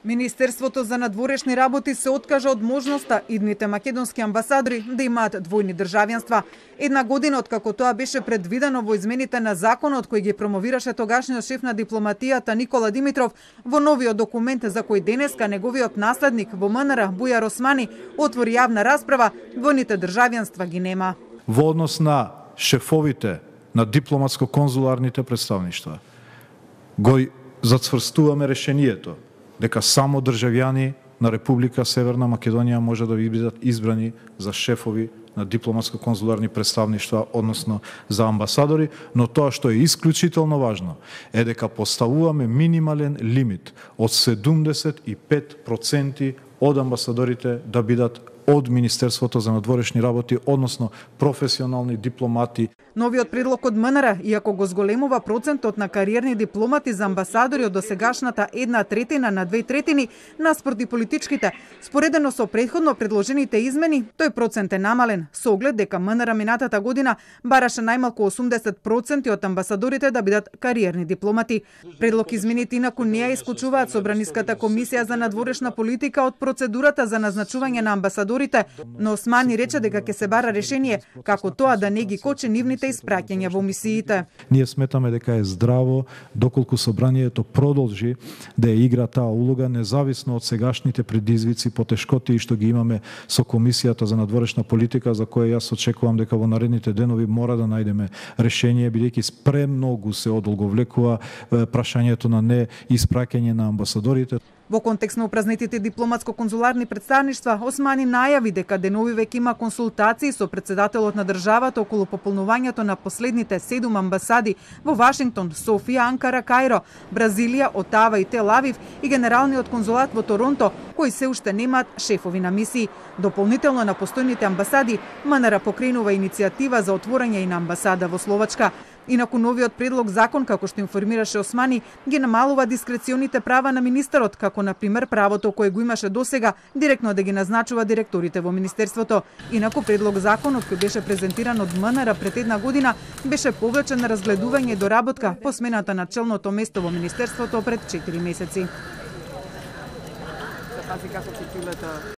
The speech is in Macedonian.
Министерството за надворешни работи се откажа од можноста идните македонски амбасадори да имаат двојни државјанства. Една година откако тоа беше предвидено во измените на законот кој ги промовираше тогашниот шеф на дипломатијата Никола Димитров, во новиот документ за кој денеска неговиот наследник во МНР Бујар Османи отвори јавна расправа, двојните државјанства ги нема. Во однос на шефовите на дипломатско-конзуларните представништва го зацврстуваме решението дека само државјани на Република Северна Македонија може да бидат избрани за шефови на дипломатско-конзуларни представништва, односно за амбасадори, но тоа што е исклучително важно е дека поставуваме минимален лимит од 75% од амбасадорите да бидат од Министерството за надворешни работи, односно професионални дипломати. Новиот предлог од МНР, иако го зголемува процентот на кариерни дипломати за амбасадори од досегашната 1/3 на 2/3 наспроти политичките, споредено со претходно предложените измени, тој процент е намален, со оглед дека МНР минатата година бараше најмалку 80% од амбасадорите да бидат кариерни дипломати. Предлог измените инаку не ја исклучуваат Собраниската комисија за надворешна политика од процедурата за назначување на амбасадорите, но Османи рече дека ќе се бара решение како тоа да не ги кочи нивните испраќања во мисиите. Ние сметаме дека е здраво доколку собранието продолжи да ја игра таа улога независно од сегашните предизвици, потешкоти што ги имаме со Комисијата за надворешна политика, за која јас очекувам дека во наредните денови мора да најдеме решение, бидејќи премногу се одолговлекува прашањето на не испраќање на амбасадорите. Во контекст на упразнетите дипломатско-конзуларни представништва, Османи најави дека денови веќе има консултации со председателот на државата околу пополнувањето на последните 7 амбасади во Вашингтон, Софија, Анкара, Кајро, Бразилија, Отава и Тел Авив и генералниот конзулат во Торонто, кои се уште немаат шефови на мисии. Дополнително на постојните амбасади, МНР покренува иницијатива за отворање и на амбасада во Словачка. Инаку новиот предлог закон, како што информираше Османи, ги намалува дискреционите права на министерот, како на пример правото кое го имаше досега директно да ги назначува директорите во министерството. Инаку предлог законот кој беше презентиран од МНР пред една година беше повлечен на разгледување и доработка по смената на челното место во министерството пред 4 месеци.